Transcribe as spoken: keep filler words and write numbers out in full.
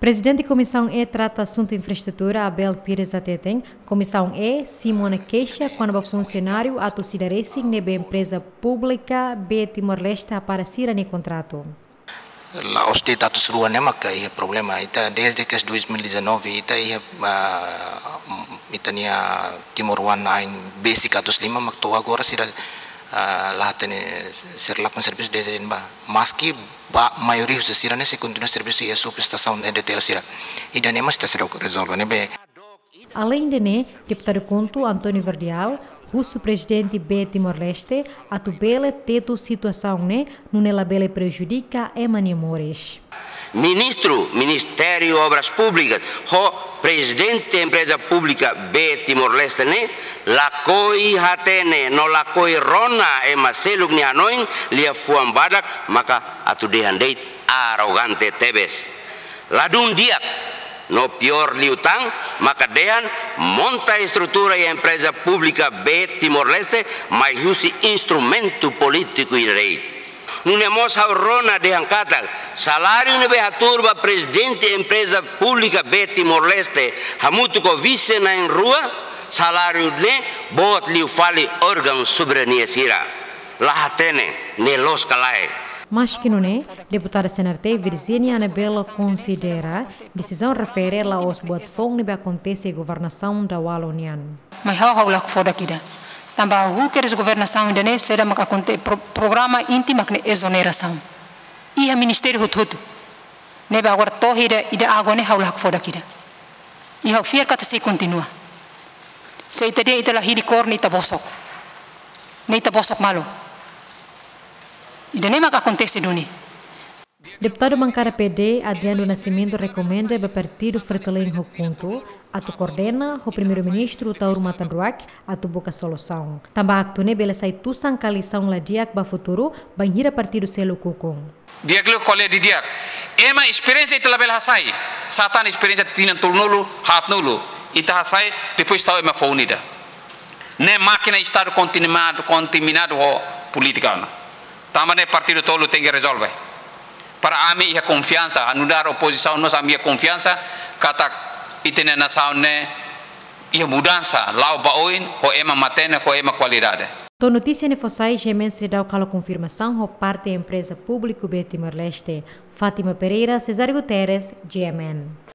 Prezidente Komisaun E trata asuntu infraestrutura, Abel Pires hateten, Komisaun E simu ona keixa kona-ba funsionáriu atu sira resin ne'ebé empreza públika B Timor-Leste hapara sira-nia kontratu. La'ós de'it atus rua ne'e maka iha problema. Ita dezde ke dois mil e dezanove, ita iha, ah, ita-nia timoroan na'in besik atus lima mak to'o agora sira, ah, la hatene, sira lakon servisu dezde ne'ebá. Maski ba maioria husi sira-ne'e sei kontinua servisu iha subestasaun E D T L sira. Ida-ne'e mós ita sei rezolve ne'ebé. Aleinde ne'e, Deputadu KHUNTO António Verdial husu Prezidente B Timor-Leste atu bele tetu situasaun ne'e nune'e labele prejudika ema nia moris. Ministru Ministériu Obras Públikas ho Prezidente Empreza Públika B Timor-Leste ne'e lakohi hatene no lakohi rona ema seluk nia hanoin, liafuan badak maka atu dehan de'it arrogante tebes. Ladún di'ak, no piór liután maka dehan monta estrutura iha Empreza Públika B Timor-Leste mai husi instrumentu polítiku ida de'it. Nune'e mós ha'u rona dehan katak saláriu ne'ebé hatuur ba Prezidente Empreza Públika B Timor-Leste hamutuk ho vise na'in rua, saláriu ne'e boot liu fali órgaun soberania sira. La hatene, ne'e loos ka lae. Maski nune'e, Deputada C N R T Virginia Anabela konsidera desizaun refere la'ós buat foun ne'ebé akontese iha governasaun daudaun nian. Mai ha'u, ha'u la hakfodak ida. Tanba ha'u husu kedas governasaun ida-ne'e, saida mak akonte-, pro-, programa inti mak ne'e ezonerasaun. Iha ministériu hotu-hotu. Ne'ebé agora to'o ida, ida agora ne'e ha'u la hakfodak ida. I ha'u fiar katak sei kontinua. Se ita dehan ita la hili kór ne'e ita bosok. Ne'e ita bosok malu. Ida-ne'e mak akontese duni. Deputadu bankada P D, Adriano do Nascimento, rekomenda ba partidu Fretilin ho KHUNTO atu koordena ho Primeiru-Ministru Taur Matan Ruak atu buka solusaun. Tanba aktu ne'e bele sai tusan ka lisaun la di'ak ba futuru, bainhira partidu seluk ukun. Di'ak liu ko'alia didi'ak. Ema esperiénsia ita labele hasai. Sá tan esperiénsia tinan tolunulu, haatnulu. Ita hasai, depois tau ema foun ida. Ne'e mákina Estadu kontaminadu, kontaminadu ho polítika ona. Tanba ne'e partidu tolu tenke rezolve. Para ami iha konfiansa, nu'udar opozisaun mós ami iha konfiansa, katak ita-nia nasaun ne'e iha mudansa, la'o ba oin, ho ema matenek, ho ema kualidade. To'o notísia ne'e fó sai, G M N seidauk halo konfirmasaun ho parte Empreza Públika B Timor-Leste. Fátima Pereira, Cesário Guterres, G M N.